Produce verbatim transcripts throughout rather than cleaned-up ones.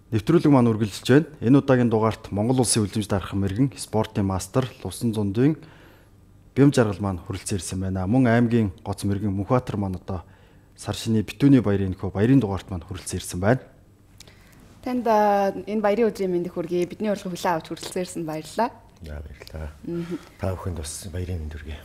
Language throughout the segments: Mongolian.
Нэвтрүүлэг маань үргэлжилж байна. Энэ удаагийн дугаарт Монгол Улсын үлдэмж дархан мэрэгэн спортын мастер Лувсан зундын бям жаргал маань хүрэлцэн ирсэн байна. Мөн аймгийн гоц мэрэгэн Мөнхбаатар маань одоо сар шиний битүүний баярын нөхөө баярын дугаарт маань хүрэлцэн ирсэн байна. Танд энэ баярын өдрийн мэндийг хүргэе. Бидний урилга хүлээн авч хүрэлцэн ирсэн баярлалаа. Яа баярлалаа. Та бүхэнд бас баярын мэнд хүргэе.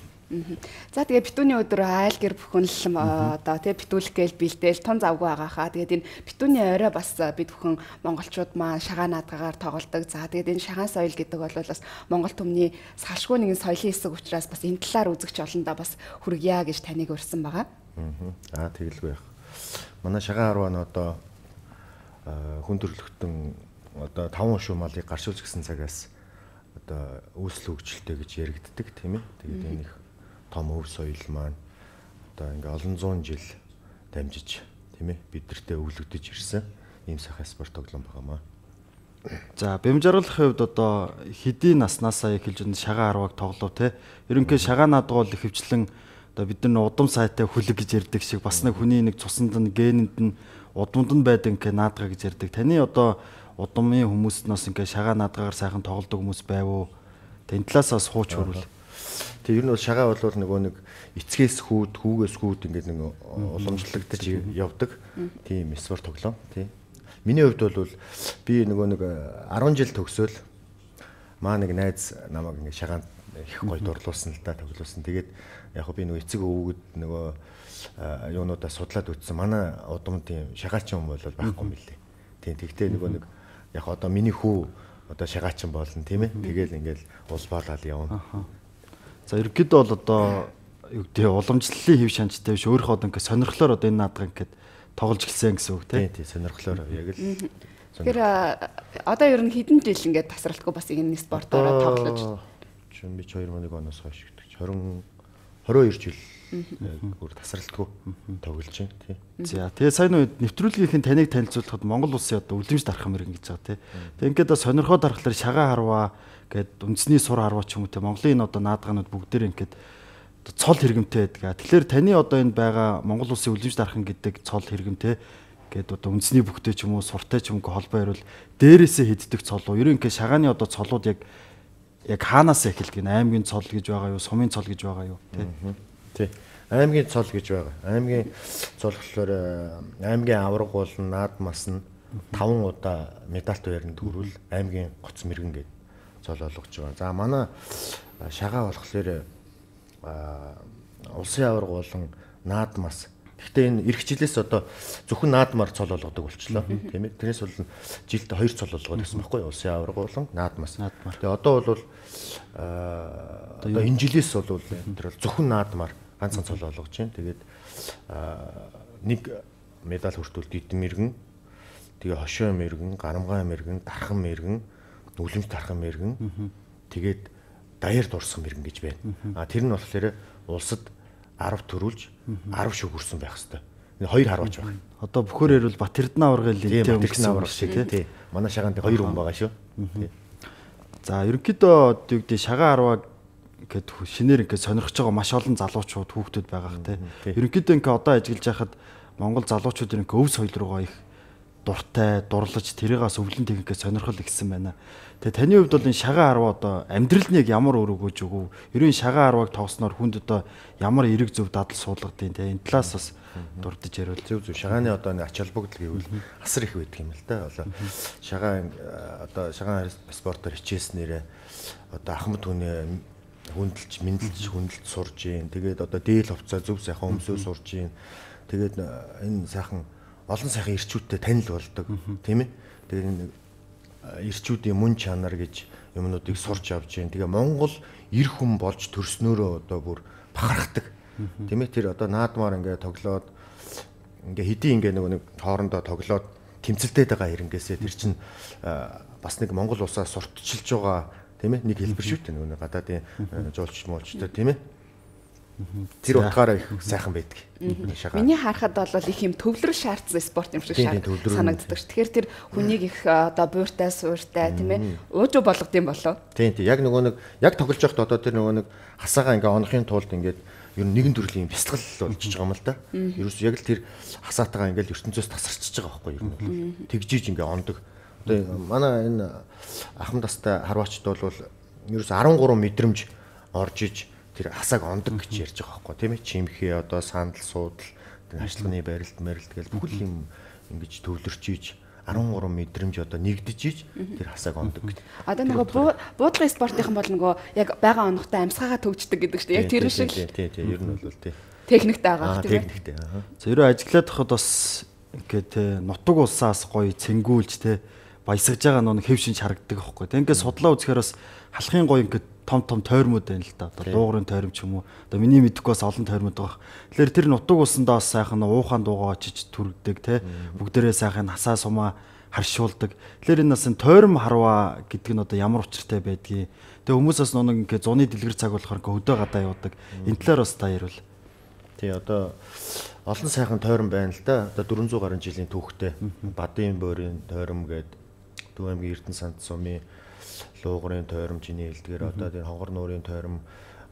За тэгээ битүүний өдөр айл гэр бүхэн л одоо тэгээ битүүлэх гээл бэлдээл тун завгүй байгаа хаа. Тэгээд энэ битүүний орой бас бид бүхэн монголчууд маань шагаан наадгагаар тоглодог. За тэгээд энэ шагаан соёл гэдэг бол бас монгол түмний салшгүй нэгэн соёлын хэсэг учраас бас энэ талаар үзэгч олондоо бас хүргье гэж таныг урьсан байгаа. Аа тэгэлгүй яах. Манай шагаан арваа нь одоо хүн төрөлхтөн одоо таван шуу малыг гаршуулж гисэн цагаас одоо үүсэл хөгжилтэй гэж яригддаг тийм ээ. Тэгээд энэ их том өв соёл маань одоо ингээ олон зуун жил дамжиж тийм ээ бидэртээ өвлөгдөж ирсэн ийм сайхан спорт тоглоом байгаамаа. За бям жаргалахын хувьд одоо хэдийн наснаасаа эхэлж энэ шагаан арваг тоглов те. Ерөнхийдөө шагаан наадга бол ихэвчлэн одоо бид нар удам сайтай хүлэг гэж ярьдаг шиг бас нэг хүний нэг цуснд нь генэнд нь удамд нь байдаг ингээ наадга гэж ярьдаг. Таны одоо удамын хүмүүстнээс ингээ шагаан наадгагаар сайхан тоглодог хүмүүс байв уу? Тэн талаас бас хууч хөрвөл. Тэг ер нь бол шагаа бол нөгөө нэг эцгээс хүүд, хүүгээс хүүд ингээд нэг уламжлагдаж явдаг тийм спорт тоглоом тий. Миний хувьд бол би нөгөө нэг арван жил төгсөөл маа нэг найз намайг ингээд шагаанд их гоё дурлуулсан л да тоглуулсан. Тэгээд яг би нөгөө эцэг өвгөд нөгөө юунуудаа судлаад үтсэн. Манай удамд тийм шагаачин хүн бол байхгүй юм лээ. Тийм тэгтээ нөгөө нэг яг одоо миний хүү одоо шагаачин болно тийм ээ. Тэгэл ингээд улбаалал явна. За ерөнхийдөө бол одоо юу гэдэг уламжлалын хэв шанчтай биш өөрийнхөө одоо ингээд сонирхлоор одоо энэ наадга ингээд тоглож эхэлсэн гэсэн үг тийм тийм сонирхлоор яг л. Тэгэхээр одоо ер нь хэдэн жил ингээд тасралтгүй бас энэ спортоор тоглож чинь би хоёр мың нэг оноос хойш гэдэг. двадцать двадцать хоёр жил бүр тасралтгүй тоглож байна тийм. За тэгээ сайн үед нэвтрүүлгийнхэн таныг танилцуулахад Монгол Улсын одоо үлдэмж дархан мэрэгэн гэж байгаа тийм. Тэгээ ингээд сонирхоо дарахлаар шагаан харваа гээд үндэсний сур харваа ч юм уу те Монголын энэ одоо наадгаанууд бүгдээр ингээд цол хэрэгэмтэй байдаг. Тэгэхээр таны одоо энэ байгаа Монгол Улсын үлдэмж дархан гэдэг цол хэрэгэмтэй гээд одоо үндэсний бүхтэй ч юм уу суртай ч юм уу холбоо ярил дээрээсээ хиддэг цол уу? Ерөн ингээд шагааны одоо цолууд яг яг хаанаас эхэлдэг нь аймгийн цол гэж байгаа юу, сумын цол гэж байгаа юу те? Тий. Аймгийн цол гэж байгаа. Аймгийн цол болохоор аймгийн авраг бол наадмаас нь таван удаа медальт байранд хүрвэл аймгийн гоц мэрэгэн гэдэг цол олгож байгаа. За манай шагаа болохоор улсын авраг болон наадмаас. Гэхдээ энэ эх жилээс одоо зөвхөн наадмаар цол олгодог болчихлоо. Тийм ээ. Тэрнээс бол жилд хоёр цол олгоод байсан байхгүй юу? Улсын авраг болон наадмаас. Тэгээ одоо бол одоо энэ жилээс бол тэр зөвхөн наадмаар ганцхан цол олгож байна. Тэгээд нэг медаль хүртүүл дид мэрэгэн, тэгээ хошоо мэрэгэн, гарамгай мэрэгэн, дархан мэрэгэн, үлэмж дархан мэрэгэн, тэгээд даяар дурсан мэрэгэн гэж байна. А тэр нь болохоор улсад арав төрүүлж арав шүг хүрсэн байх хэвээр. Хоёр харваач байна. Одоо бүхөр ярил Бат Эрдэнэ аврагын лигтэй өнгөрсөн авраг шиг тий. Манай шагаанд хоёр хүн байгаа шүү. За ерөнхийдөө юу гэдэг шагаан арваа гэд шинээр ингээд сонирхож байгаа маш олон залуучууд хүүхдүүд байгаа хэ тий. Ерөнхийдөө ингээд одоо ажиллаж байхад Монгол залуучууд ингээд өв соёл руугаа их дуртай, дурлаж тэрийгээс өвлөн техникээ сонирхол ихсэн байна. Тэгээ таны хувьд бол энэ шагаан арваа одоо амьдрал нь яг ямар өөр өгөөж өгөв? Ерөн шагаан арвааг тоглосноор хүнд одоо ямар эрэг зөв дадал суулгадیں۔ Тэ энэ талаас бас дурдж ярил. Зөв зөв шагааны одоо нэг ач холбогдол гэвэл асар их байдаг юм л да. Одоо шагаан одоо шагаан спортоор хичээснээрээ одоо ахмад хүнээ хүндэлж, мэдлж, хүндэлж сурж гин. Тэгээд одоо дээл хувцаа зөв сайхан өмсөө сурж гин. Тэгээд энэ сайхан олон сайхан ирчүүдтэй танил болдог тийм ээ. Тэгээд нэг ирчүүдийн мөн чанар гэж юмнуудыг сурч авч гин. Тэгээ Монгол эр хүн болж төрснөөрөө одоо бүр бахархдаг. Тийм ээ. Тэр одоо наадмаар ингээ тоглоод ингээ хэдий ингээ нөгөө нэг хоорондоо тоглоод тэмцэлтэй байгаа хэрнгээсээ тэр чинь бас нэг Монгол улсаас сурталчилж байгаа тийм ээ. Нэг хэлбэр шүү дээ нөгөө гадаадын жуулч муулчтай тийм ээ. Тэр утгаараа их сайхан байдаг. Миний харахад бол их юм төвлөрөл шаардсан спорт юм шиг санагддаг ш. Тэгэхээр тэр хүнийг их одоо бууртай, сууртай тийм ээ уужуу болгод юм болов. Тийм тийм. Яг нөгөө нэг яг тоглож байхад одоо тэр нөгөө нэг хасаагаа ингээ онохын тулд ингээд ер нь нэгэн төрлийн бясалгал болчихж байгаа юм л да. Ерөөс яг л тэр хасаатайгаа ингээл ертөнцөөс тасарчиж байгаа байхгүй юу ер нь. Тэгжиж ингээ ондог. Одоо манай энэ ахмад тастай харваачд бол ерөөс арван гурван мэдрэмж орж иж тэр хасааг ондог гэж ярьж байгаа байхгүй тийм ээ. Чимхээ одоо сандал суудал тэр ажлын барилт марилт гэж бүхэл юм ингэж төвлөрч иж арван гурван мэдрэмж одоо нэгдэж иж тэр хасааг ондог гэдэг. Одоо нөгөө буудлын спортынхан бол нөгөө яг байгаа оногтой амьсгаагаа төвчдөг гэдэг чинь яг тэр шиг л. Тий, тий, ер нь бол тий. Техниктэй байгаа тийм ээ. Техниктэй. Зэрэг ажиллаад хахад бас ингээд те нутаг улсаас гоё цэнгүүлж те баясгаж байгаа нэг хэв шинж харагддаг аахгүй. Тэг ингээд судлаа үзэхээр бас халахын гоё ингээд том том тойрмууд байна л да. Одоо дуугарын тойром ч юм уу. Одоо миний мэдэхгүй бас олон тойрмууд байгаа. Тэгэхээр тэр нутаг улсандаа бас сайхан уухаан дуугаа очиж түргдэг те. Бүгдээрээ сайхан хасаа сумаа харшуулдаг. Тэгэхээр энэ нас тойром харваа гэдэг нь одоо ямар учиртай байдгийг. Тэгээ хүмүүс бас нэг ингээд зуны дэлгэр цаг болохоор ингээд хөдөө гадаа явдаг. Энэ талаар бас та ярил. Тий одоо олон сайхан тойрон байна л да. Одоо дөрвөн зуун гаруй жилийн түүхтэй Бадын бөөрийн тойром гээд Төв аймгийн Эрдэнэ санд сумын Луугарын тойром чиний хэлдгээр одоо тэр Хонгор нуурын тойром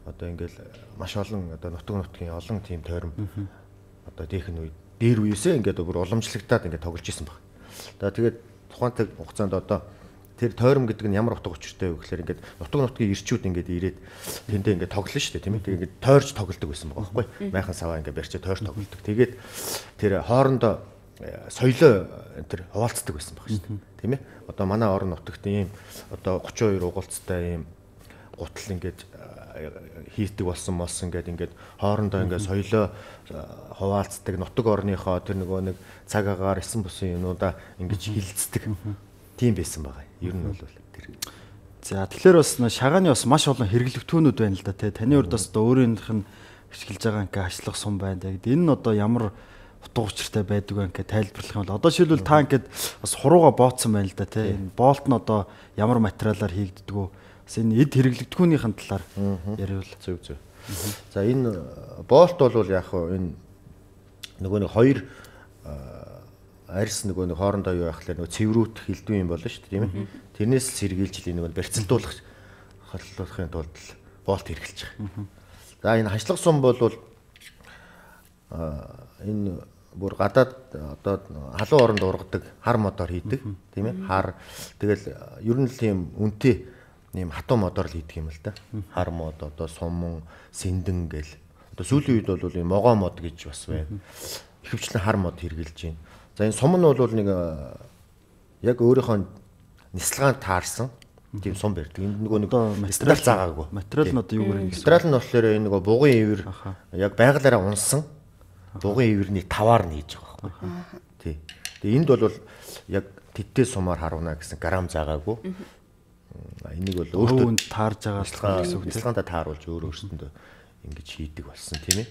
одоо ингээл маш олон одоо нутаг нутгийн олон тийм тойром одоо дээхэн үед дээр үеэсээ ингээд бүр уламжлагдаад ингээд тоглож исэн баг. За тэгээд тухайн хугацаанд одоо тэр тойром гэдэг нь ямар утга учиртай вэ гэхээр ингээд нутаг нутгийн ирчүүд ингээд ирээд тэндээ ингээд тоглоно шүү дээ тийм ээ. Тэгээд ингээд тойрч тоглодог байсан байгаа байхгүй. Майхан саваа ингээд барьчаа тойрч тоглодог. Тэгээд тэр хоорондоо соёлоо тэр хуваалцдаг байсан баг шүү дээ. Тийм ээ. Одоо манай орон нутагт ийм одоо гучин хоёр угуулцтай ийм гутал ингээд хийдэг болсон мос ингээд ингээд хоорондоо ингээд соёлоо хуваалцдаг нутаг орныхоо тэр нөгөө нэг цаг агаар эсэн бусын юмудаа ингээд хилцдэг. Тийм байсан байгаа. Ер нь бол тэр. За тэгэхээр бас шагааны бас маш олон хэрэглэгдэхүүнүүд байна л да тий. Таны урд бас одоо өөрийнх нь ашиглаж байгаа ингээ ачлах сум байна. Тэгээд энэ нь одоо ямар утга учиртай байдаг вэ ингээ тайлбарлах юм бол одоо шилбэл та ингээд бас хурууга бооцсон байна л да тий. Энэ болт нь одоо ямар материалаар хийгддэг вэ? Бас энэ эд хэрэглэгдэхүүнийхэн талаар яриул. Зөв зөв. За энэ болт бол яг хөө энэ нөгөө нэг хоёр арьс нөгөө нэг хоорондоо юу яхахлаа нөгөө цэврүүт хилдвэн юм болно шүү дээ тийм ээ. Тэрнээс сэргийлж нөгөө барьцалдуулах хорлуулахын тулд болт хэрэглэж байгаа. За энэ хашлах сум бол энэ бүр гадаад одоо халуун оронд ургадаг хар модоор хийдэг тийм ээ. Хар тэгэл ер нь л тийм үнэтэй ийм хатуу модоор л хийдэг юм л да. Хар мод одоо суман сэндэн гэл одоо сүүлийн үед бол ийм могоо мод гэж бас байна. Ихэвчлэн хар мод хэрэгжилж байна. За энэ сум нь бол нэг яг өөрийнхөө нислгаанд таарсан тийм сум барьдаг. Энэ нөгөө нэг материал заагаагүй. Материал нь одоо юу гэрэн гэсэн. Материал нь болохоор энэ нөгөө бугын ивэр яг байгалаараа унсан бугын ивэрний таваар нь хийж байгаа байхгүй. Тий. Тэгээ энд бол яг тэттэй сумаар харуулна гэсэн грамм заагаагүй. Энийг бол өөртөө таарж байгаа гэсэн үг. Нислгаандаа тааруулж өөр өөрсөндөө ингэж хийдэг болсон тийм ээ.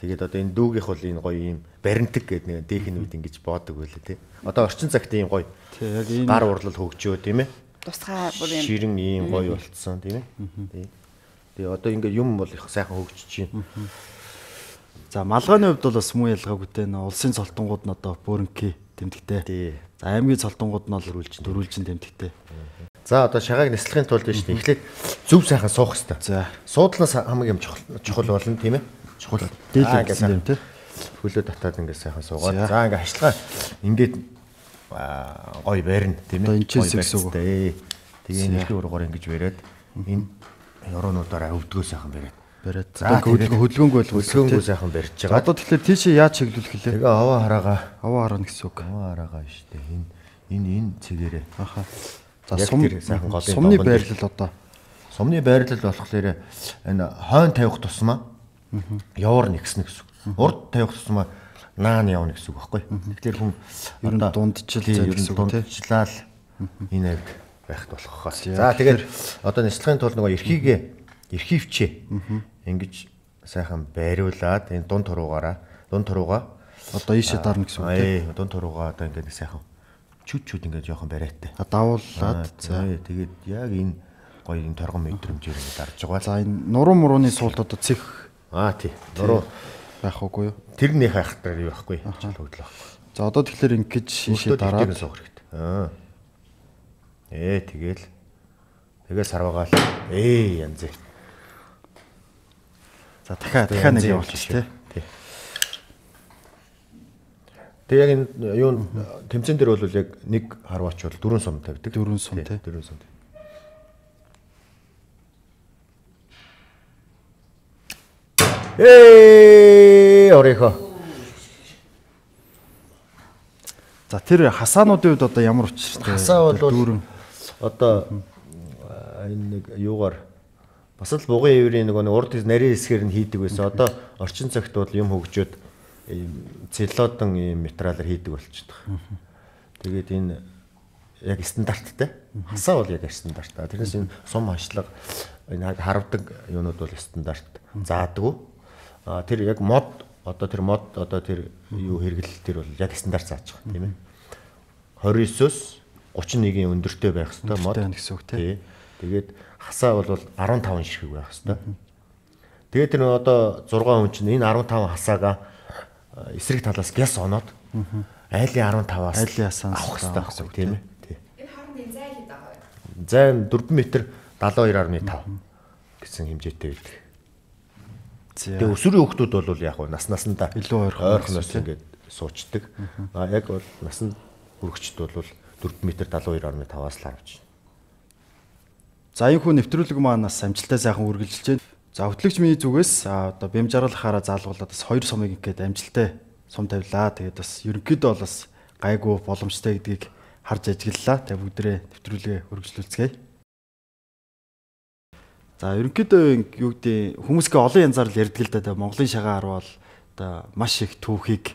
Тэгээд одоо энэ дүүгийнх бол энэ гоё юм баримтаг гэдэг нэг дээхэн үед ингэж боодог байлаа тий. Одоо орчин цагт ийм гоё. Тий яг энэ гар урлал хөгжөө тийм ээ. Тусгай бүр юм. Ширэн ийм гоё болцсон тийм ээ. Тий. Тэгээ одоо ингээд юм бол их сайхан хөгжиж байна. За малгайны хувьд бол бас муу ялгаагүй те улсын цолтонгууд нь одоо бөөрнки тэмдэгтэй. Тий. За аймгийн цолтонгууд нь бол дөрвөлжин дөрвөлжин тэмдэгтэй. За одоо шагааг нислахын тулд биш тийм эхлээд зөв сайхан суух хэрэгтэй. За суудлаас хамгийн чухал чухал болно тийм ээ. Чухал дийлэн гэсэн юм тий. Хөлөө татаад ингээд сайхан суугаад. За ингээд хашлага ингээд гоё барина тийм ээ. Гоё гэсэн үг. Тэгээ нэлээд уруугаар ингэж бариад энэ ёроонуудаараа өвдгөө сайхан бариад. Бариад. За хөдөлгөөнгүй бол хөдөлгөөнгүй сайхан барьж байгаа. Одоо тэгэхээр тийшээ яаж чиглүүлэх хэлээ? Тэгээ аваа хараагаа. Аваа хараа гэсэн үг. Аваа хараагаа шүү дээ. Энэ энэ энэ цэгээрээ. Аха. За сум сайхан голын сумны байрлал одоо. Сумны байрлал болохоор энэ хойно тавих тусмаа явар нэгснэ гэсэн. Урд тавих тусмаа наан явна гэсэн үг байхгүй. Тэгэхээр хүн ер нь дундчил гэсэн үг тийм. Дундчлал энэ авд байхд болох хаа. За тэгэхээр одоо нислахын тулд нөгөө эрхийгээ эрхийвчээ ингэж сайхан байруулад энэ дунд туруугаараа дунд туруугаа одоо ийшээ дарна гэсэн үг тийм. Дунд туруугаа одоо ингэ сайхан чүд чүд ингэ жоохон бариатай. Давуулаад за тэгээд яг энэ гоё энэ торгон мэдрэмжээр ингэ дарж байгаа. За энэ нуруу мурууны суулт одоо цэх аа тий. Нуруу байх уугүй юу? Тэр нэг хайхтар юу байхгүй. Чал хөдлөх. За одоо тэгэхээр ингэж шишээ дараад суух хэрэгтэй. Аа. Ээ тэгэл тэгээ сарвагаал. Ээ янз. За дахиад дахиад нэг явуулчих тий. Тэгээ яг энэ юу тэмцээн дээр бол яг нэг харваач бол дөрвөн сум тавьдаг. дөрвөн сум тий. дөрвөн сум. Ээ орихо. За тэр хасаануудын үед одоо ямар учиртай? Хасаа бол дөрвөн одоо энэ нэг юугаар бас л бугын еврийн нөгөө нэг урд нарийн хэсгээр нь хийдэг байсан. Одоо орчин цагт бол юм хөгжөөд целлодон ийм материалаар хийдэг болчихдог. Тэгээд энэ яг стандарттай. Хасаа бол яг стандарт. Тэрнээс энэ сум хашлага энэ харавдаг юунууд бол стандарт заадаггүй. А тэр яг мод одоо тэр мод одоо тэр юу хэрэглэл тэр бол яг стандарт зааж байгаа тийм ээ. двадцать девятөөс тридцать одны өндөртэй байх хэвээр мод гэсэн үг тий. Тэгээд хасаа бол15ширхэг байх хэвээр. Тэгээд тэр одоо зураг хүн чинь энэ15 хасаага эсрэг талаас гяс оноод айлын15-аас айлын хасаанаас авах хэрэгтэй гэсэн үг тийм ээ. Тий. Энэ хоорондын зай хэд байгаа вэ? Зай дөрвөн метр седьмидесяти две гаруй пять гэсэн хэмжээтэй байдаг. Тэгээ өсвөрийн хүүхдүүд бол яг нас наснда илүү ойрхоноос ингээд суучдаг. А яг бол насанд хүрэгчд бол дөрвөн метр седьмидесяти две гаруй пять-аас л авч байна. За энэ хүн нэвтрүүлэг маань бас амжилттай сайхан үргэлжилж байна. За хөтлөгч миний зүгээс одоо бям жаргалахаараа заалгуулаад бас хоёр сумыг ингээд амжилттай сум тавилаа. Тэгээд бас ерөнхийдөө бол бас гайгүй боломжтой гэдгийг харж ажиглалаа. Тэгээд бүгдээ нэвтрүүлгээ үргэлжлүүлцгээе. За ерөнхийдөө юу гэдэг хүмүүсгээ олон янзаар л ярьдаг л да. Монголын шагаа харвал одоо маш их түүхийг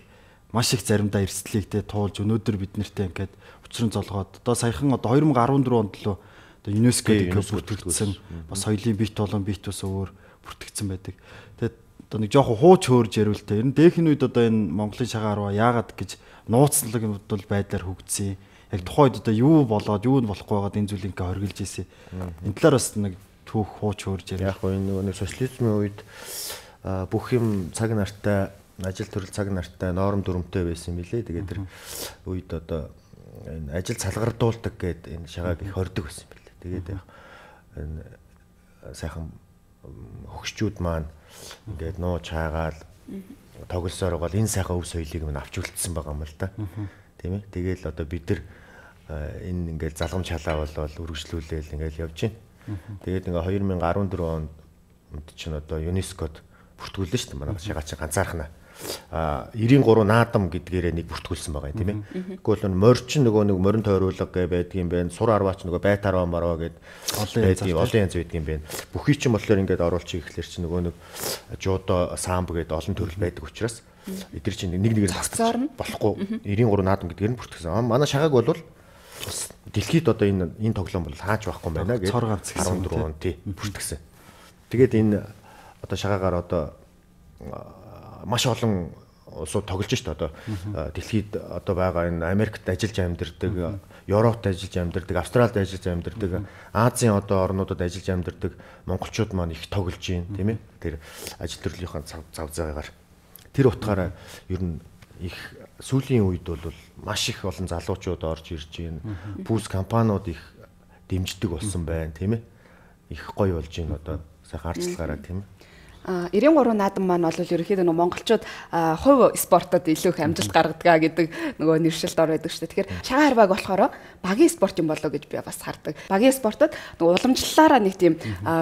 маш их заримдаа эрсдлийг туулж өнөөдөр бид нартэй ингээд учран золгоод одоо саяхан одоо две тысячи дөрвөн онд л одоо ЮНЕСКО-д бүртгэгдсэн бас соёлын бит болон бит ус өөр бүртгэгдсэн байдаг. Тэгээд одоо нэг жоохон хууч хөөрж ярил тэ. Ер нь дээхэн үед одоо энэ Монголын шагаа харваа яагаад гэж нууцлаг бодвол байдлаар хөгжсөн. Яг тухайд одоо юу болоод юу нь болохгүй байгаад энэ зүйлийг ингээ хоригдж ийсэн. Энэ талаар бас нэг түүх хууч хөөрж ярил. Яг энэ нэг социализмын үед бүх юм цаг нартай ажил төрөл цаг нартай норм дүрмтэй байсан юм билээ. Тэгээд тэр үед одоо энэ ажил салгардуулдаг гэдэг энэ шагааг их хордог байсан юм билээ. Тэгээд энэ сайхан хөгшчүүд маань ингээд нууж хаагаал тоглосоор бол энэ сайхан өв соёлыг минь авч үлдсэн байгаа юм л да. Тийм ээ. Тэгээл одоо бид нар энэ ингээд залгамж халаа болол үргэлжлүүлээл ингээд явж байна. Тэгээд ингээ две тысячи дөрвөн онд чинь одоо ЮНЕСКОд бүртгүүлсэн шүү дээ. Манай шагаа чинь ганцаархнаа. А девяносто три наадам гэдгээрээ нэг бүртгүүлсэн байгаа юм тийм ээ. Тэгвэл морчин нөгөө нэг морин тойруулга гэ байдгийн байна. Сур арваач нөгөө байтарваа марваа гэд байдгийн олон янз байдгийн байна. Бүхий ч юм болохоор ингээд оруулчих ихлээр чинь нөгөө нэг жудо самб гэд олон төрөл байдаг учраас эдгээр чинь нэг нэгээр тасцаар болохгүй девяносто три наадам гэдгээр нь бүртгсэн. Манай шагааг бол дэлхийд одоо энэ энэ тоглоом бол хааж байхгүй байна гэж дөрвөн онд тий бүртгэсэн. Тэгээд энэ одоо шагаагаар одоо маш олон улсууд тоглож шүү дээ. Одоо дэлхийд одоо байгаа энэ Америкт ажиллаж амьдардаг, Европт ажиллаж амьдардаг, Австралид ажиллаж амьдардаг, Азийн одоо орнуудад ажиллаж амьдардаг монголчууд маань их тоглож байна, тийм ээ. Тэр ажил төрлийнхаа зав зав заагаар тэр утгаараа ер нь их сүүлийн үед бол маш их олон залуучууд орж ирж байна. Пүүс компаниуд их дэмждэг болсон байна, тийм ээ. Их гоё болж байна одоо сайхан арчлагаараа, тийм ээ. А девяносто три наадам маань бол ерөнхийдөө нөгөө монголчууд хувь спортод илүү их амжилт гаргадаг гэдэг нөгөө нэршилд ор байдаг шүү дээ. Тэгэхээр шагаа харвааг болохоор багийн спорт юм болоо гэж би бас хардаг. Багийн спортод нөгөө уламжлалаараа нэг тийм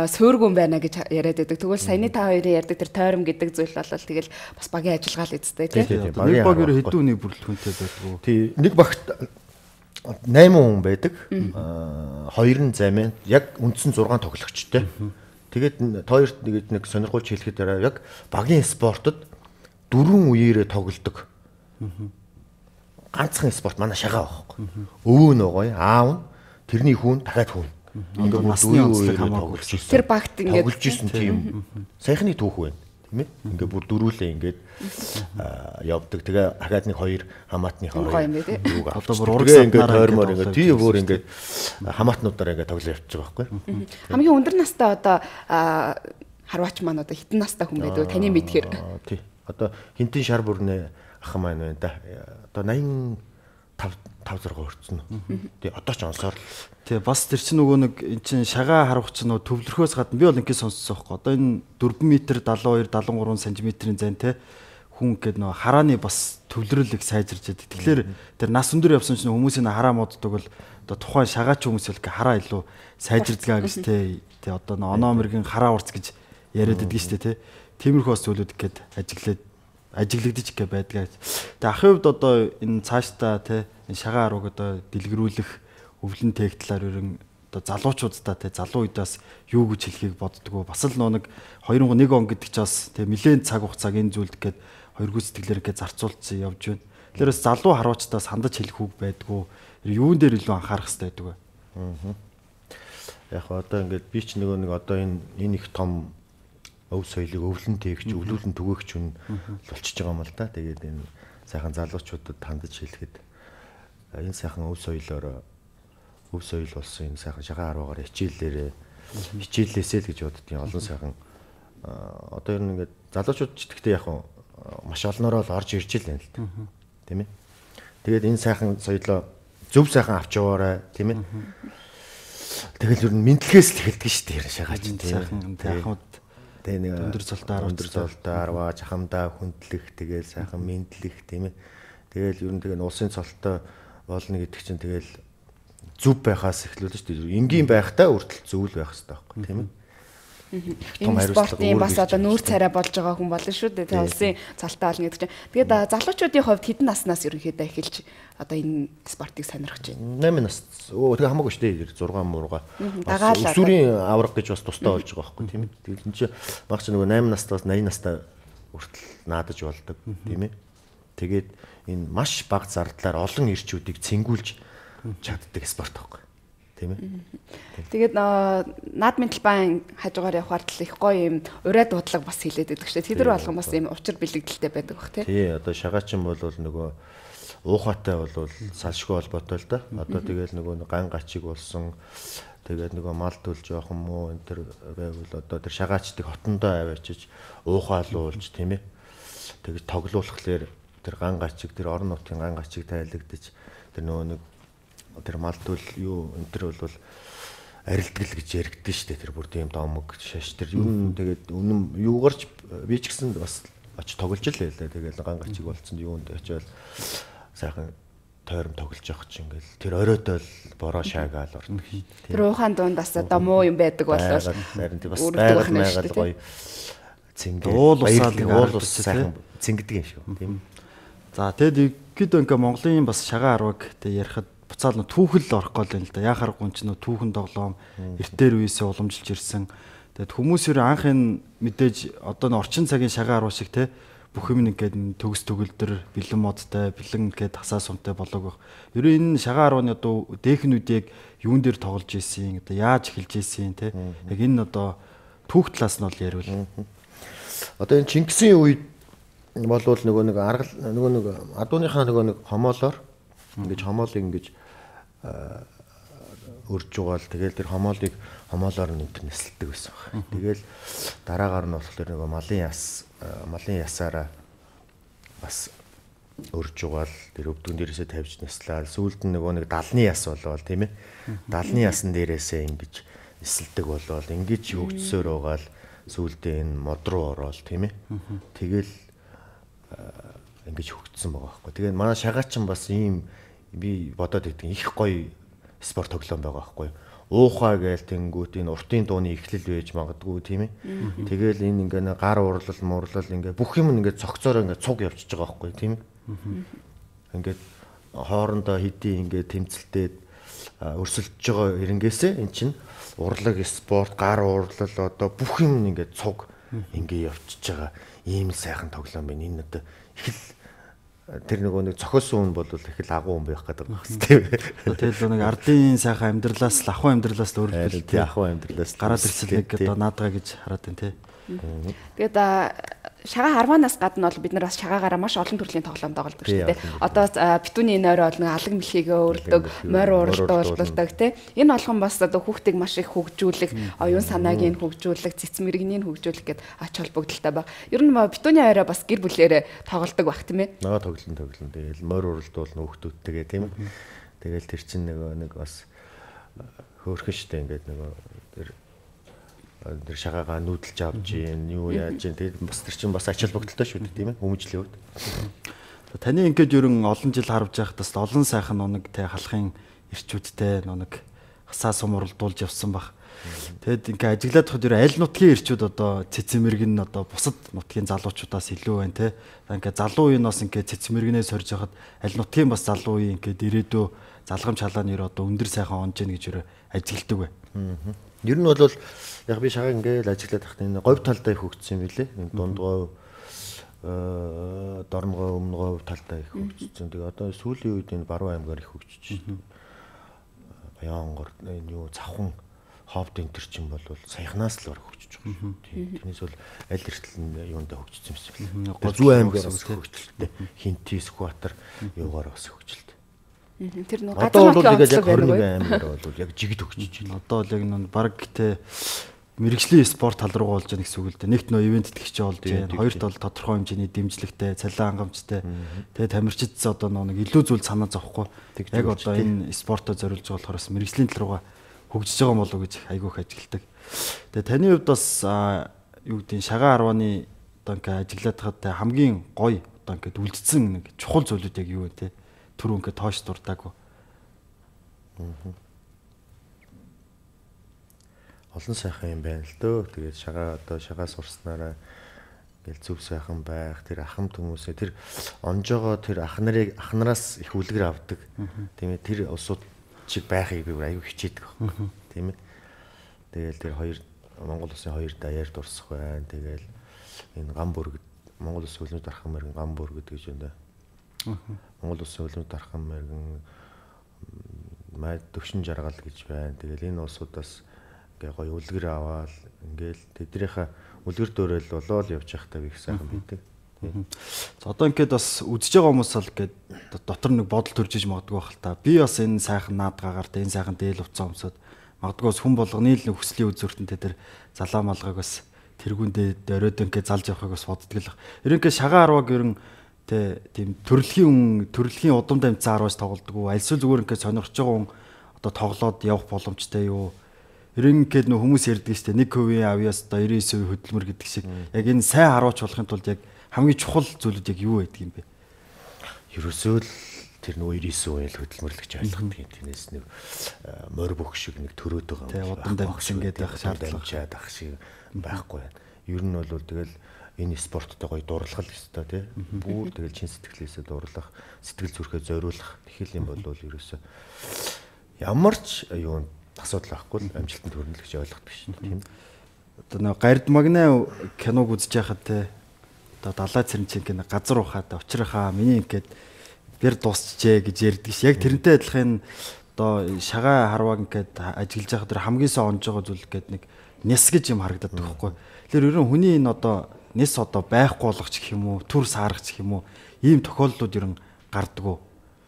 суургүн байна гэж яриад байдаг. Тэгвэл саяны та хоёрын ярьдаг тэр тойром гэдэг зүйл бол тэгэл бас багийн ажиллагаа л эзтэй тийм. Нэг баг ер хэдэн үний бүрэлдэхүүнтэй байдгүй. Тий, нэг багт восемь хүн байдаг. Хоёр нь замын яг үндсэн зургаан тоглогчтой. Тэгээд хоёрт нэг нэг сонирхолч хэлэхэд яг багийн спортод дөрвөн үеэрээ тоглодог. Ганцхан спорт манай шагаа байхгүй. Өвөө нь байгаа юм, аав нь, тэрний хүн, дахиад хүн. Ингээд насны онцлог хамаагүй. Тэр багт ингээд тоглож исэн тийм саяхны түүх байна. Тийм ээ. Ингээд бүр дөрүүлээ ингээд явдаг. Тэгээ дахиад нэг хоёр хамаатныхаа юуг одоо бүр ураг ингээд тойрмоор ингээд тий бүр ингээд хамаатнуудаараа ингээд тоглож явчих байгаа байхгүй. Хамгийн өндөр настай одоо харваач маань одоо хитэн настай хүн байдаг таны мэдхээр. Тий. Одоо хинтэн шар бүрнээ ах маань байна да. Одоо восемьдесят five зураг өрцөн. Тий одоо ч онсоор. Тий бас тэр чинь нөгөө нэг эн чин шагаа харах чинь нөгөө төвлөрөхөөс гадна би бол ингээд сонссон байхгүй. Одоо энэ four метр seventy two seventy three сантиметрийн зайн те хүн гээд нөгөө харааны бас төвлөрөлийг сайжирч яадаг. Тэгэхээр тэр нас өндөр явсан чинь хүмүүсийн хараа моддог бол одоо тухайн шагаач хүмүүс бол хараа илүү сайжирдгаа гэж те те одоо нөгөө оноо мэргийн хараа урц гэж яриад байдаг шүү дээ те. Тиймэрхүү бас зүйлүүд гээд ажиглаад ажиглагдчих гэ байдгаа. Тэгээ ахын хувьд одоо энэ цаашдаа те энэ шагаа арууг одоо дэлгэрүүлэх өвлөн тех талаар ерөн одоо залуучуудаа те залуу үедээс юу гэж хэлхийг боддгоо бас л нэг хоёр нэг он гэдэг ч бас те нэлээд цаг хугацааг энэ зүйлд гээд хоёр гүйцэтгэлээр ингээд зарцуулсан явж байна. Тэгэхээр бас залуу харваачдаас хандаж хэлэх үг байдгүй. Юун дээр илүү анхаарах хэрэгтэй байдаг вэ? Аа. Яг одоо ингээд би ч нөгөө нэг одоо энэ энэ их том өв соёлыг өвлөн тээгч, өвлүүлэн түгээгч хүн болчихж байгаа юм л да. Тэгээд энэ сайхан залуучуудад хандаж хэлэхэд энэ сайхан өв соёлоор өв соёл болсон энэ сайхан шагаан аруугаар хичээлээрээ хичээлээсээ л гэж боддгийн олон сайхан одоо ер нь ингээд залуучууд ч гэхдээ яг маш олноороо л орж ирж л байна л да. Тийм ээ. Тэгээд энэ сайхан соёлоо зөв сайхан авч яваарай, тийм ээ. Тэгэл ер нь мэдлэгээс л эхэлдэг шүү дээ шагаач тийм. Сайхан тэгээ нэг өндөр золтой арва, өндөр золтой арва, жахамдаа хүндлэх, тэгэл сайхан мэдлэх, тийм ээ. Тэгэл ер нь тэгээ улсын цолтой болно гэдэг чинь тэгэл зүв байхаас эхлүүлж шүү дээ. Энгийн байхтаа үртэл зөв л байх хэрэгтэй байхгүй, тийм ээ. Том спортын бас одоо нүүр царай болж байгаа хүн болно шүү дээ. Тэгээ улсын цолтой болно гэдэг чинь. Тэгээд залуучуудын хувьд хэдэн наснаас ерөнхийдөө эхэлж одоо энэ спортыг сонирхож байна? восемь нас. Өө тэгээ хамаагүй шүү дээ. шесть мурга. Өсвөрийн авраг гэж бас тустай болж байгаа байхгүй тийм ээ. Тэгээд энэ чинь баг чи нөгөө восемь настаас восемьдесят настай хүртэл наадаж болдог тийм ээ. Тэгээд энэ маш бага зардлаар олон ирчүүдийг цэнгүүлж чаддаг спорт байхгүй. Тийм ээ. Тэгээд наадмын талбайн хажуугаар явахаар л их гоё юм ураа дуудлага бас хилээд байдаг шүү дээ. Тэдэр болгон бас юм учир бэлэгдэлтэй байдаг бах тий. Тий, одоо шагаачин бол нөгөө уухатай бол салшгүй холбоотой л да. Одоо тэгээд нөгөө ган гачиг болсон тэгээд нөгөө мал төл жоохон муу энэ төр байвал одоо тэр шагаачдыг хотондоо аваачиж уухаалуулж тийм ээ. Тэгээд тоглоулахлаар тэр ган гачиг тэр орон нутгийн ган гачиг тайлагдаж тэр нөгөө нэг тэр мал төл юу энэ төр бол арилтгэл гэж яригдэн штэ тэр бүр тийм домог шаш тэр юу тэгээд үнэн юугаарч би ч гэсэн бас очиж тоглож л байлаа. Тэгээд ган гачиг болцсон юунд очивол сайхан тойрон тоглож явах чинь ингээл тэр оройтой л бороо шаагаал ордог. Тэр ухаан дунд бас одоо муу юм байдаг болов. Харин тийм бас байгаль байгаль гоё цэнгэл уул усаал уул ус сайхан цэнгдэг юм шүү. Тийм. За тэгэд ихэд ингээ Монголын бас шагаан арваг тэг ярихад буцаал нөө түүхэл орох гол юм л да. Яхаар гун ч нөө түүхэн тоглоом эртээр үеэсээ уламжилж ирсэн. Тэгэд хүмүүс ер анх энэ мэдээж одоо н орчин цагийн шагаан арва шиг те бүх юм ингээд төгс төгөлдөр бэлэн модтай бэлэн ингээд хасаа сумтай болоог байх. Ер нь энэ шагаан арваны одоо дээхнүүдийг юун дээр тоглож ийсэн, одоо яаж эхэлж ийсэн те. Яг энэ одоо түүх талаас нь бол ярил. Одоо энэ Чингисийн үед болвол нөгөө нэг арга нөгөө нэг адууныхаа нөгөө нэг хомоолоор ингэж хомоолыг ингэж өрж угаал тэгэл тэр хомоолыг хомоолоор нь энэ нэсэлдэг байсан байна. Тэгэл дараагаар нь болохоор нөгөө малын яс малын ясаараа бас өрж угаал тэр өвдгөн дээрээсээ тавьж нэслээл сүүлд нь нөгөө нэг далны яс болвол тийм ээ. Далны ясан дээрээсээ ингэж нэсэлдэг болвол ингэж хөгжсөөр угаал сүүлдээ энэ мод руу ороод тийм ээ. Тэгэл ингэж хөгжсөн байгаа байхгүй. Тэгээд манай шагаачин бас ийм би бодоод идэв их гоё спорт тоглоом байгаа байхгүй. Уухаа гээл тэнгүүт энэ уртын дууны эхлэл байж магадгүй тийм ээ. Тэгэл энэ ингээ гар урлал муурлал ингээ бүх юм ингээ цогцоор ингээ цуг явчихж байгаа байхгүй тийм ээ. Ингээд хоорондоо хэдий ингээ тэмцэлтэй өрсөлдөж байгаа эренгээсээ эн чинь урлаг спорт гар урлал одоо бүх юм ингээ цуг ингээ явчихж байгаа ийм сайхан тоглоом байна. Энэ одоо их л тэр нөгөө нэг цохиосон хүн бол их л агуу хүн байх гэдэг байна тийм. Тэгэл нэг ардын сайхан амьдралаас ахуй амьдралаас л өөрөлдөл тий ахуй амьдралаас гараад ирсэн нэг одоо наадгаа гэж хараад байна тий. Тэгээд шагаа арванаас гадна бол бид нар бас шагаагаараа маш олон төрлийн тоглоом тоглодог шүү дээ. Одоо битүүний энэ орой бол нэг алаг мэлхийгээ өрдөг, морь уралдуулдаг тий. Энэ болгон бас одоо хүүхдийг маш их хөгжүүлэх, оюун санааг нь хөгжүүлэх, цэц мэрэгнийг хөгжүүлэх гэд ач холбогдолтой баг. Ер нь битүүний орой бас гэр бүлээрээ тоглодог баг тийм ээ. Наа тоглолт тоглолт. Тэгэл морь уралдуулна хүүхдүүдтэйгээ тийм ээ. Тэгэл тэр чинь нөгөө нэг бас хөөрхөн штэ ингээд нөгөө тэр тэр шагаагаа нүүдэлж авч гин юу яаж гин тэр бас тэр чинь бас ач холбогдолтой шүү дээ тийм ээ хүмүүжлийн хувьд. Таны ингээд ерөн олон жил харж байхдаас олон сайхан нунаг те халахын ирчүүдтэй нунаг хасаа сум уралдуулж явсан баг. Тэгэд ингээд ажиглаад хад ер аль нутгийн ирчүүд одоо цэцэмэрг нь одоо бусад нутгийн залуучуудаас илүү байна те. Ингээд залуу үеийнээс ингээд цэцэмэргнээ сорж хахад аль нутгийн бас залуу үеийн ингээд ирээдөө залгамж халааны ер одоо өндөр сайхан онж гин гэж ер ажигладаг бай. Ер нь бол яг би шагаа ингээд ажиглаад тахтай энэ говь талдаа их хөгжсөн юм билэ. Энэ дундгой дорногой өмнөгой талдаа их хөгжсөн. Тэгээ одоо сүүлийн үед энэ Баруун аймгаар их хөгжиж байна. Баянгор энэ юу завхан ховд энэ төр чинь бол саяхнаас л бараг хөгжиж байгаа шүү. Тэрнээс бол аль эртэл нь юундаа хөгжсөн юм бэ? Зүүн аймгаар бас хөгжилтэй. Хинти, Сүхбаатар юугаар бас хөгжилтэй. Тэр нэг газар нутгийн онцлог байна уу? Аймгаар бол яг жигд хөгжиж байна. Одоо л яг нэг бараг тэ мэрэгжлийн спорт тал руу болж байгаа гэсэн үг л дээ. Нэгт нөө ивент итгэж болж байна. Хоёрт бол тодорхой хэмжээний дэмжлэгтэй, цалин хангамжтай. Тэгээ тамирчидс одоо нэг илүү зүйл санаа зовхгүй. Яг одоо энэ спортоо зориулж байгаа болохоор мэрэгжлийн тал руугаа хөгжиж байгаа болов уу гэж айгүйх ажигладаг. Тэгээ таны хувьд бас юу гэдэг нь шагаа арваны одоо ингээ ажиглаад хаад хамгийн гоё одоо ингээ үлдсэн нэг чухал зүйлүүд яг юу вэ те? Түр ингээ тоош дуртаагүй. Олон сайхан юм байна л дөө. Тэгээд шагаа одоо шагаа сурснараа ингээл зөв сайхан байх, тэр ахмад хүмүүсээ тэр онжоогоо тэр ах нарыг ах нараас их үлгэр авдаг. Тийм ээ тэр улсууд чиг байхыг би аюу хичээдэг байхгүй. Тийм ээ. Тэгээл тэр хоёр Монгол улсын хоёр даяар дурсах байна. Тэгээл энэ гам бүргэд Монгол улсын хөлнөд дархан мэргэн гам бүргэд гэж байна. Монгол улсын хөлнөд дархан мэргэн май төвшин жаргал гэж байна. Тэгээл энэ улсуудаас ингээ гоё үлгэр аваад ингээл тэднийхээ үлгэр дөөрөл болоод явж байхдаа би их сайхан бидэг. За одоо ингээд бас үдж байгаа хүмүүс л ингээд дотор нэг бодол төрж иж магадгүй байх л та. Би бас энэ сайхан наадгаагаар тэ энэ сайхан дээл уцаа өмсөд магадгүй бас хүн болгоны л хүслийн үзүүртэнтэй тэр залаа малгайг бас тэргүүндээ оройд ингээд залж явахыг бас боддөг л. Ерөнхийдөө шагаа арваг ерөн тэ тийм төрөлхийн төрөлхийн удам дамжсан арваас тоглодог уу? Альсвал зүгээр ингээд сонирхож байгаа хүн одоо тоглоод явах боломжтой юу? Ерөнхийдөө нөх хүмүүс ярьдаг шүү дээ. нэг хувийн авьяас одоо девяносто хувийн хөдөлмөр гэдэг шиг. Яг энэ сайн харуулж болохын тулд яг хамгийн чухал зүйлүүд яг юу байдаг юм бэ? Ерөөсөө л тэр нөгөө девяносто хувийн хөдөлмөрлөгч ойлгодог юм. Тэрнээс нэг морь бүх шиг нэг төрөөд байгаа юм. Тэгээ удан дамжсан ингээд байх шаардлага ах шиг байхгүй байна. Ер нь бол тэгэл энэ спорттой гоё дурлах л ёстой тий. Бүр тэгэл чин сэтгэлээсээ дурлах, сэтгэл зүрхээ зориулах тэгэл юм бол ерөөсөө ямар ч юу асуудал байхгүй л амжилтанд хүрнэ л гэж ойлгох биш тийм. Одоо нэг гард магнаа киног үзэж байхад те одоо далай цэрэнчийн газар ухаад учрахаа миний ингээд бэр дуусчээ гэж ярьдаг ш. Яг тэрнтэй адилхан одоо шагаа харваг ингээд ажиглаж байхад тэр хамгийн сайн онж байгаа зүйл гээд нэг нэс гэж юм харагдаад байгаа байхгүй. Тэгэхээр ерөн хүний энэ одоо нэс одоо байхгүй болгоч гэх юм уу, түр сааргач гэх юм уу, ийм тохиолдлууд ерөн гардаг уу?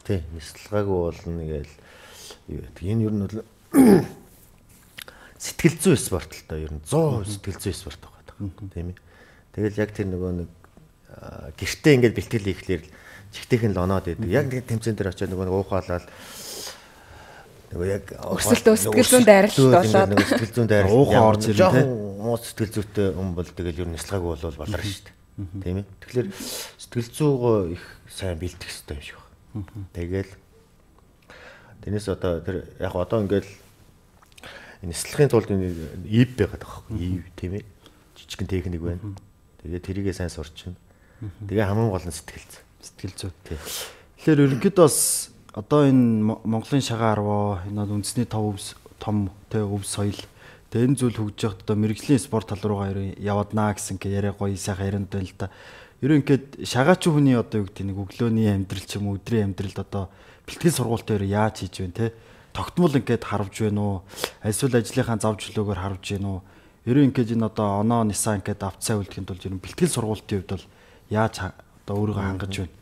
Тий, нэслэгаагүй болно гээл юу гэдэг. Энэ ер нь бол сэтгэл зүй спорт л доо ер нь сто сэтгэл зүй спорт байгаа тийм ээ. Тэгэл яг тэр нөгөө нэг гэртээ ингээд бэлтгэл хийхлээр чихтэйхэн л оноод байдаг. Яг нэг тэмцээн дээр очиод нөгөө уухаалал нөгөө яг өсөлтөө сэтгэл зүйн дайралт болоод нөгөө сэтгэл зүйн дайралт уухаа орж ирнэ тийм. Муу сэтгэл зүйтэй хүн бол тэгэл ер нь нэслэгаагүй бол балар шүү дээ. Тийм ээ. Тэгэхээр сэтгэл зүйгоо их сайн бэлтгэх хэрэгтэй юм шиг байна. Тэгэл тэрнээс одоо тэр яг одоо ингээд нэслэхийн тулд ив байгаад байгаа байхгүй ив тийм ээ жижигхэн техник байна. Тэгээ тэрийгээ сайн сурч байна. Тэгээ хамгийн гол нь сэтгэл зүй. Сэтгэл зүй. Тэгэхээр ерөнхийдөө бас одоо энэ Монголын шагаа арваа энэ үндэсний тав өвс том тэ өвс соёл тэгээ энэ зүйл хөгжиж явахдаа одоо мэрэгжлийн спорт тал руугаа яваднаа гэсэн гэ яриа гоё сайхан ярианд байна л да. Ерөнхийдөө шагаач хүний одоо юу гэдэг нэг өглөөний амьдрал ч юм уу өдрийн амьдралд одоо бэлтгэл сургуультай яаж хийж вэ те тогтмол ингээд харвж байна уу эсвэл ажлынхаа зав чөлөөгөөр харвж байна уу ерөн ингээд энэ одоо оноо нисаа ингээд авцаа үлдэхин тулд ер нь бэлтгэл сургуулийн хувьд бол яаж одоо өөрийгөө хангаж байна.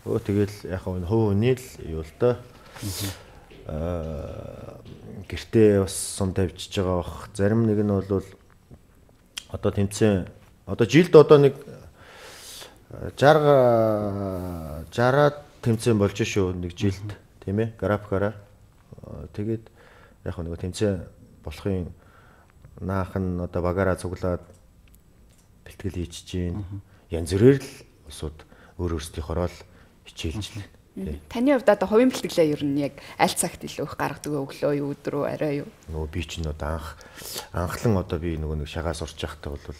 Өө тэгэл яг хөө хүний л юу л да аа гэртээ бас сум тавьчихж байгаа бах зарим нэг нь бол одоо тэмцээн одоо жилд одоо нэг шараад тэмцээн болж шүү нэг жилд тийм ээ графикаараа тэгээд яг нөгөө тэмцээн болохын наахан одоо багаараа цуглаад бэлтгэл хийчихэж чинь янз бүрээр л усууд өөр өөрсдийнхороо л хичээлж байна. Таны хувьд одоо хувийн бэлтгэлээ ер нь яг аль цагт илүү их гаргадаг вэ? Өглөө юу, өдрөө, арай юу? Нөгөө би ч нөт анх анхлан одоо би нөгөө нэг шагаас урч явахдаа бол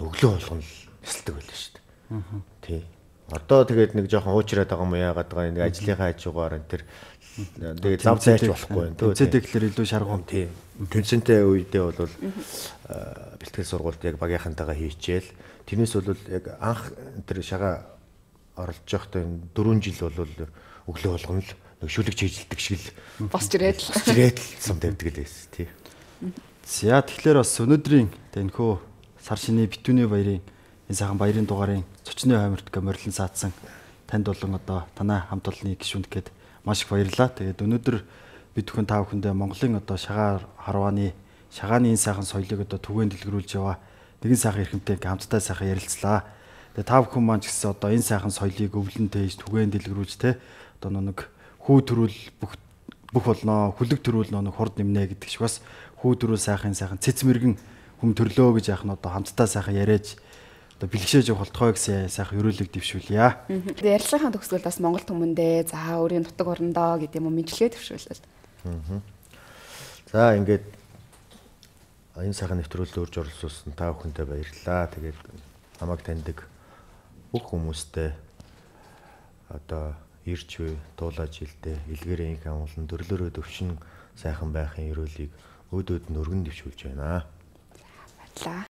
өглөө болгоно л нисэлдэг байлаа шүү дээ. Тий. Одоо тэгээд нэг жоохон уучраад байгаа юм яагаад байгаа нэг ажлынхаа хажуугаар энэ тэр тэгээд зав зайч болохгүй байна. Тэнцэдэг гэхэлэр илүү шаргуун. Тий. Тэнцэнтэй үедээ бол бэлтгэл сургуульд яг багийнхантайгаа хийчихэл тэрнээс бол яг анх тэр шагаа оролж явахдаа дөрвөн жил бол өглөө болгоно л нэг шүлэг чийжилдэг шиг л босч ирээд л босч ирээд л сум тавьдаг л байсан тий. За тэгэхээр бас өнөөдрийн тэнхүү сар шиний битүүний баярын энэ сайхан баярын дугаарын зочны хойморт гоморлон саадсан танд болон одоо танай хамт олонны гишүүнд гээд маш их баярлалаа. Тэгээд өнөөдөр бид бүхэн та бүхэндээ Монголын одоо шагаа харвааны шагааны энэ сайхан соёлыг одоо түгээн дэлгэрүүлж яваа нэгэн сайхан эрхэмтэй хамтдаа сайхан ярилцлаа. Тэгээ та бүхэн маань ч гэсэн одоо энэ сайхан соёлыг өвлөн тээж түгээн дэлгэрүүлж те одоо нэг хүү төрүүл бүх бүх болно хүлэг төрүүл нэг хурд нэмнэ гэдэг шиг бас хүү төрүүл сайхан сайхан цэц мэрэгэн хүм төрлөө гэж яах нь одоо хамтдаа сайхан яриаж одоо бэлгшээж явах болтгой гэсэн сайхан өрөөлөг дэвшүүлье. Тэгээ ярилцлагын төгсгөл бас Монгол түмэндээ за өөрийн нутаг орондоо гэдэг юм уу мэдлэгээ дэвшүүлсэн. За ингээд энэ сайхан нэвтрүүлэлд урьж оролцуулсан та бүхэндээ баярлалаа. Тэгээд намайг таньдаг бүх хүмүүстээ одоо ирж буй дуулаж илдэ илгээрээ инх амгалан төрлөөрөө төвшин сайхан байхын өрөөлийг өд өд нь өргөн дэвшүүлж байна. Баярлалаа.